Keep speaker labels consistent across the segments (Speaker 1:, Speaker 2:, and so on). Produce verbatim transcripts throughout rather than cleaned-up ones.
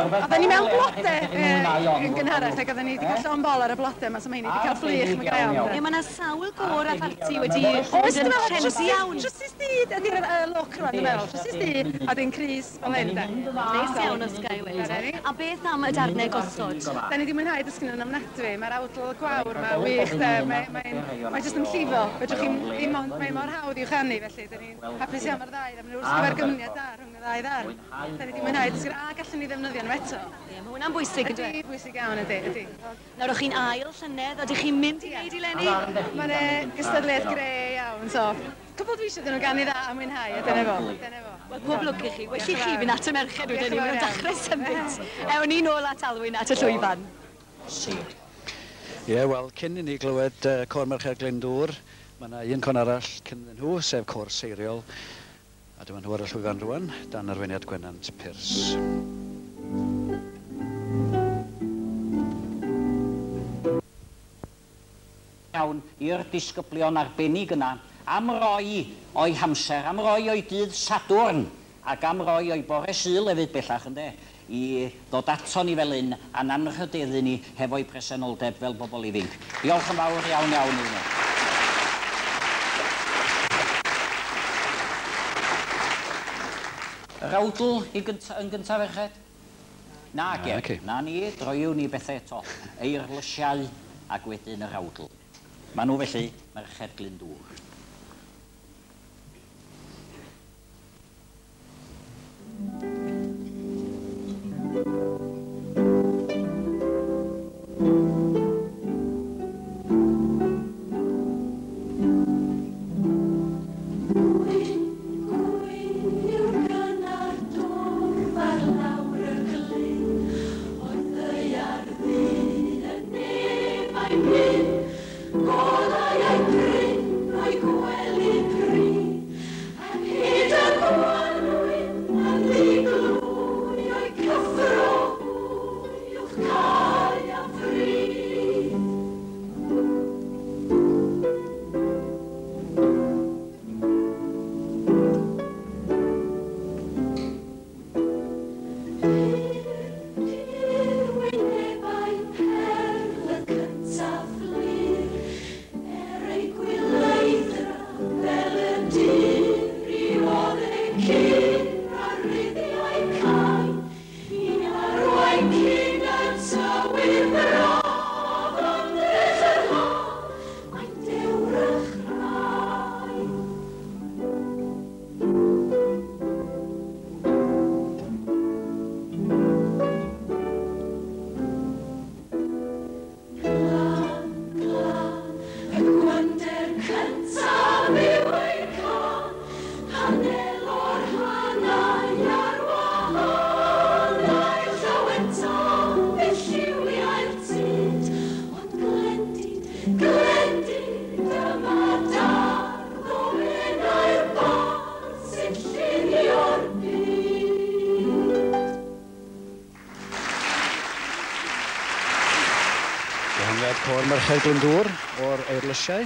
Speaker 1: Oedden ni mewn blodau yn gynharach ac oedden ni wedi cael llond bol ar y blodau yma, so mae ni wedi cael fflych, mae'n gael iawn.
Speaker 2: Ie, mae yna sawl gôr a pharti wedi bod yn trendi iawn.
Speaker 1: Trwsus du ydy'r look rwan, dwi'n meddwl. Trwsus du a dyn crys fel hyn, de.
Speaker 2: Neis iawn os ga i weud. A beth am y darnau gosod?
Speaker 1: Da ni wedi mwynhau dysgu nhw'n ofnadwy. Mae'r awdl gwawr yma wych, de. Mae jyst yn llifo. Fedrwch chi'n ddim ond, mae mor hawdd i'w chanu, felly da ni'n hapus iawn ar ddau. Maen nhw'n gyfergyniad da rhwng y ddau ddarn. Da ni wedi mwynhau dysgu, a gallwn ni ddefnyddio nhw eto.
Speaker 2: Ie, mae hwnna'n bwysig, ydy?
Speaker 1: Ydy, bwysig iawn, ydy, ydy.
Speaker 2: Nawr, o'ch chi'n ail llynedd, ydych chi'n mynd i wneud i leni?
Speaker 1: Mae'n gystadleuaeth gre iawn, so cwbl dwi eisiau dyn nhw ganu dda a mwynhau, a dyna fo, dyna fo.
Speaker 2: Wel, pob lwc i chi. Well i chi fynd at y merched wedyn ni, maen nhw'n dechrau symud. Ewn ni nôl at Alwyn at y llwyfan.
Speaker 3: Ie, wel, cyn i ni glywed uh, Côr Merched Glyndŵr, mae yna un côr arall cyn nhw, sef Côr Seiriol. A dyma nhw ar y llwyfan rwan, dan arweiniad Gwennant Pyrs.
Speaker 4: Iawn i'r disgyblion arbennig yna am roi o'i hamser, am roi o'i dydd Sadwrn ac am roi o'i bore Sul hefyd bellach, ynde, i ddod ato ni fel un a'n anrhydeddu ni hefo'i presenoldeb fel bobl ifanc. Diolch yn fawr iawn iawn iddyn nhw. Yr awdl i gynta, yn gyntaf, ferched? Na, ge. Na ni, droiwn ni bethau eto. Eirlysiau ac wedyn yr awdl. Maen nhw felly, Merched Glyndŵr.
Speaker 3: Côr Merched Glyndŵr o'r Eirlysiau.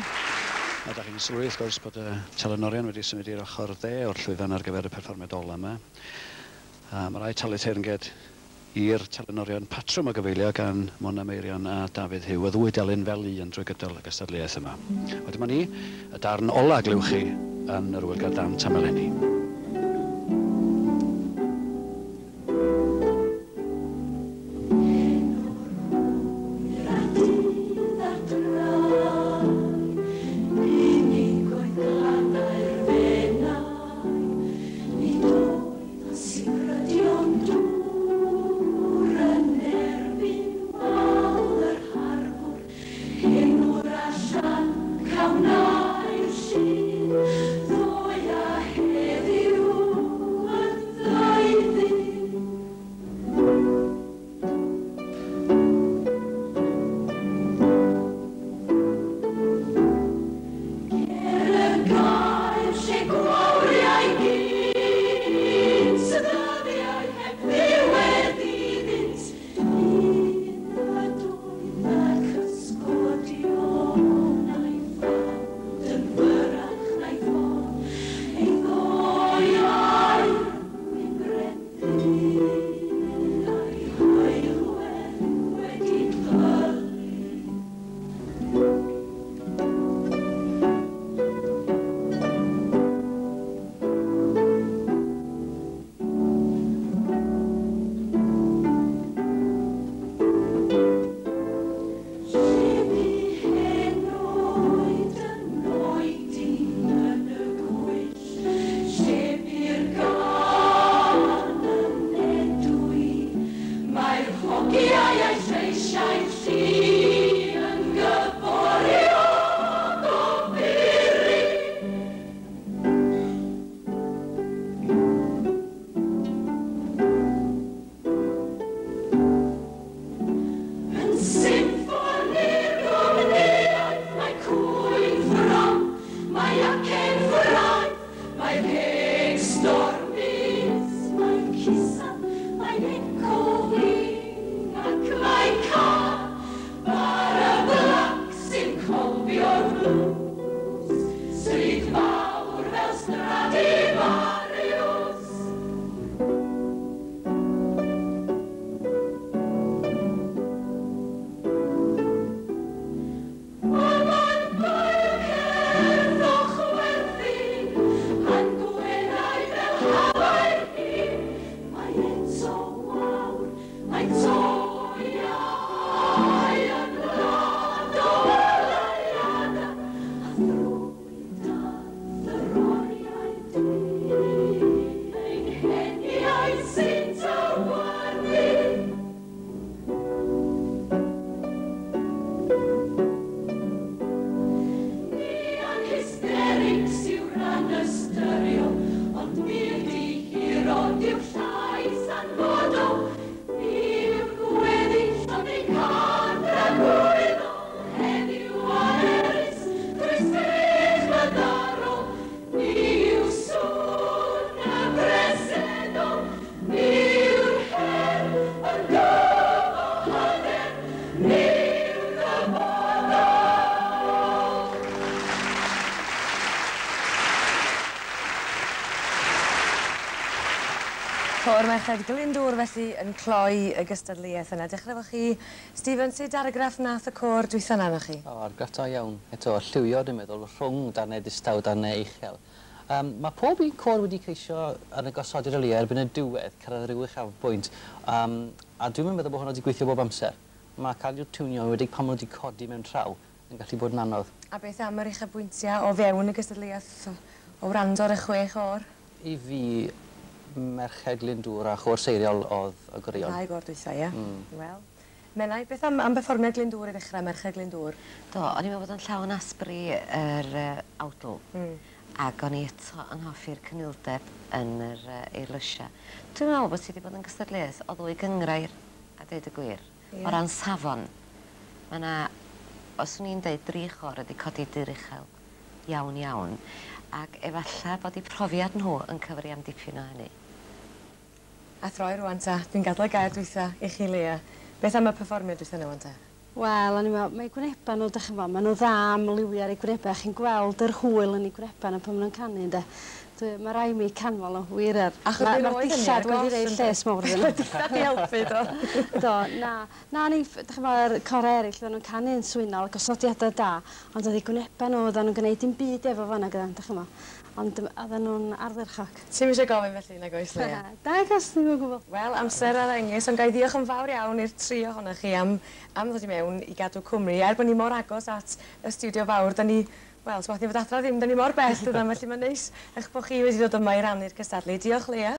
Speaker 3: A da chi'n sylwi, wrth gwrs, bod y telenorion wedi symud i'r ochr dde o'r llwyfan ar gyfer y perfformiad ola yma. A mae rhaid talu teyrnged i'r telenorion patrwm o gyfeilio gan Mona Meirion a Dafydd Huw, y ddwy delyn fel un drwy gydol y gystadleuaeth yma. Wedyn dyma ni, y darn ola glywch chi yn yr Ŵyl Gerdd Dant am eleni.
Speaker 5: Allan, cawn ail llun, ddoe a heddiw. Côr Merched Glyndŵr felly yn cloi y gystadleuaeth yna. Dechrau efo chi, Stephen, sut argraff nath y côr dwytha yna arnoch chi?
Speaker 6: O, argraff da iawn. Eto, lliwio, dwi'n meddwl, rhwng darnau distaw, darnau uchel. Um, mae pob un côr wedi ceisio yn y gosodiad o leia erbyn y diwedd, cyrraedd rhyw uchafbwynt. Um, a dwi'n meddwl bod hwnna wedi gweithio bob amser. Mae cael i'w tiwnio wedi pan maen nhw wedi codi mewn traw yn gallu bod yn anodd.
Speaker 5: A beth am yr uchafbwyntiau o fewn y gystadleuaeth o wrando ar y chwe chôr?
Speaker 6: I fi, Merched Glyndŵr a Chôr Seiriol oedd y goreuon.
Speaker 5: Ddau gôr dwytha, ie. Mm. Wel, Menai, beth am, am berfformiad Glyndŵr i ddechrau, Merched Glyndŵr?
Speaker 7: Do, o'n i'n meddwl bod yn llawn asbri yr uh, awdl. Mm. Ac o'n i eto yn hoffi'r cynildeb yn yr uh, eirlysiau. Dwi'n meddwl bod ti wedi bod yn gystadleuaeth o ddwy gynghrair, a dweud y gwir. Yeah. O ran safon, mae yna, os o'n i'n deud, dri chôr wedi codi dur uchel iawn iawn, ac efallai bod eu profiad nhw yn cyfri am dipyn o hynny.
Speaker 5: A throi rwan ta, dwi'n gadael y gair dwytha i chi, Leah. Beth am y perfformiad dwytha yna rwan ta?
Speaker 8: Wel, o'n i'n meddwl, mae gwynebau nhw, dych chi'n gwybod, maen nhw dda am liwio ar eu gwynebau. Chi'n gweld yr hwyl yn eu gwynebau nhw pan maen nhw'n canu, ynde. Mae rai mi canmol nhw, wir ar. Mae'r dillad wedi rhoi lles mawr iddyn nhw.
Speaker 5: Dillad i helpu, do.
Speaker 8: Do, na. Na, ni, dych chi'n gwybod, yr corau eraill, oedden nhw'n canu yn swynol, gosodiadau da, ond oedd eu gwynebau nhw, oedden nhw'n gwneud dim byd efo fanna gyda, dych chi'n gwybod. Ond oedden nhw'n ardderchog.
Speaker 5: Ti'm eisiau gofyn felly, nag oes, Leah?
Speaker 8: Nag oes, ddim o gwbl.
Speaker 5: Wel, amser ar engys, ond ga i ddiolch yn fawr iawn i'r tri ohonoch chi am, am ddod i mewn i gadw cwmni. Er bod ni mor agos at y stiwdio fawr, da ni, wel, swath ni fod adra ddim, da ni mor bell, dydan, felly mae'n neis eich bod chi wedi dod yma i rannu'r cystadlu. Diolch, Leah.